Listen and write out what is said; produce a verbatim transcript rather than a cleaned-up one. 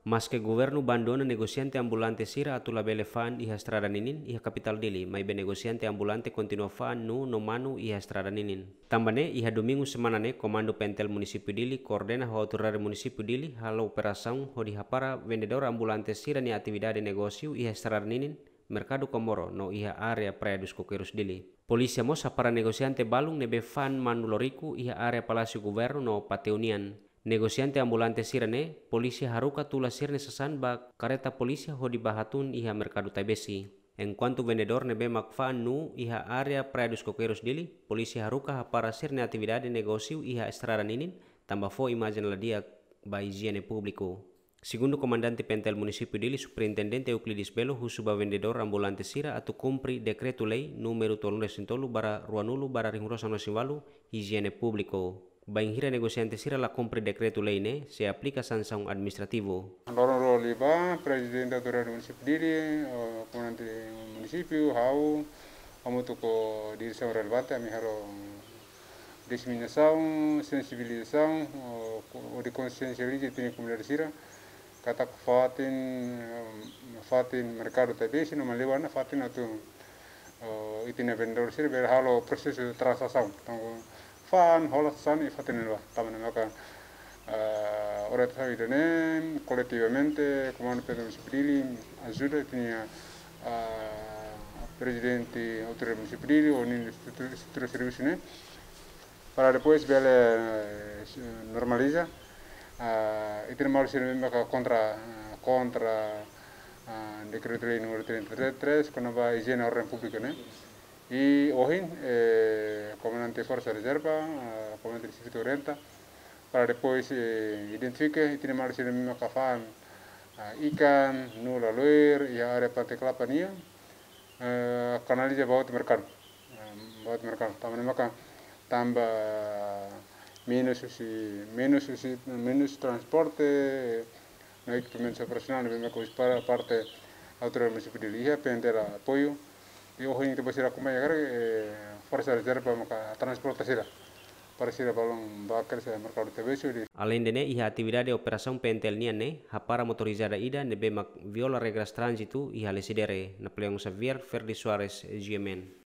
Maske governu bandona negosiante ambulante sira atu labele fa'an iha estrada ninin iha kapitál Dili, maibé negosiante ambulante kontinua fa'an nuu no manu iha estrada ninin. Tanba ne'e, iha domingu semana ne'e, Komandu Pentel Munisípiu Dili koordena ho autoridade Munisípiu Dili halo operasaun hodi hapara vendedór ambulante sira-nia atividade negósiu iha estrada ninin, Merkadu Komoro no iha área Praia dos Coqueiros Dili. Polísia mós hapara negosiante balun ne'ebé fa'an manu loriku iha área Palásiu Governu no Pateu nian. Negosiante ambulante sira-ne'e, polísia haruka tula sira-nia sasán ba kareta polísia hodi bá hatún iha Merkadu Taibesi. Enkuantu vendedór ne'ebé mak fa'an nuu iha área Praia dos Coqueiros Dili, polísia haruka hapara sira-nia atividade negósiu iha estrada ninin, tanba fó imajen la di'ak ba ijiene públiku. Segundu Komandante Pentel Munisípiu Dili, Superintendente Euclides Belo, husu ba vendedór ambulante sira atu kumpre Dekretu-Lei númeru tolunulu-resin-tolu barra ruanulu barra rihun rua sanulu-resin-ualu, ijiene públiku. Bainhira negosiante sira la kumpre dekretu-lei ne'e, sei aplika sansaun administrativu. Loron rua liubá, Prezidente Autoridade Munisípiu Dili, eh, Komandante Munisípiu, ha'u, hamutuk ho diresaun relevante, ami halo diseminasaun, sensibilizasaun, ho, hodi konsiensializa ita-nia komunidade sira, katak fatin, eh, fatin Merkadu Taibesi no Maliwana fatin atu, eh, ita-nia vendedór sira bele halo prosesu tranzasaun. Entaun, fa'an, hola sasán iha fatin ne'ebá. Tanba ne'e maka, eh, orientasaun ida-ne'e, koletivamente, Komandu Pentel Munisípiu Dili ajuda ita-nia, eh, Prezidente Autoridade Munisípiu Dili, ho ninia estrutura, estrutura servisu ne'e, para depois bele, eh, normaliza, ah, ita-nia maluk sira ne'ebé maka kontra, ah, kontra, ah, Dekretu-Lei númeru trinta e três, kona-ba ijiene orden públika ne'e. I ohin, eh, Komandante Forsa Rezerva, ah, Komandante Sivita orienta, para depois, eh, identifika ita-nia maluk sira ne'ebé maka fa'an, ah, ikan, nuu laloer, iha área Pante Kelapa nian, eh, kanaliza ba outro merkadu. Eh, ba outro merkadu. Tanba ne'e maka tanba menus husi, menus husi, menus transporte, no ekipamentu operasionál, ne'ebé maka husi para parte autoridade munisípiu Dili iha, P N T L apoiu. I ohin ita-boot sira akompaña karik, eh, Forsa Rezerva maka transporta sira. Para sira balun bá kedas iha Merkadu Taibesi. Aleinde ne'e, iha atividade operasaun P N T L nian ne'e, hapara motorizada ida ne'ebé mak viola regras tránzitu iha Lecidere. Napoleão Xavier, Ferdi Soares, G M N.